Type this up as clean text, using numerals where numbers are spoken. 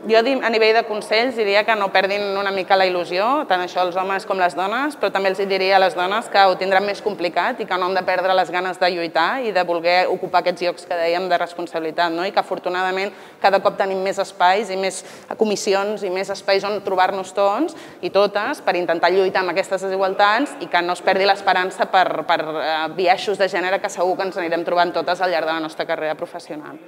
Jo a nivell de consells diria que no perdin una mica la il·lusió, tant això els homes com les dones, però també els diria a les dones que ho tindran més complicat i que no han de perdre les ganes de lluitar i de voler ocupar aquests llocs que dèiem de responsabilitat, i que afortunadament cada cop tenim més espais i més comissions i més espais on trobar-nos tots i totes per intentar lluitar amb aquestes desigualtats i que no es perdi l'esperança per biaixos de gènere que segur que ens anirem trobant totes al llarg de la nostra carrera professional.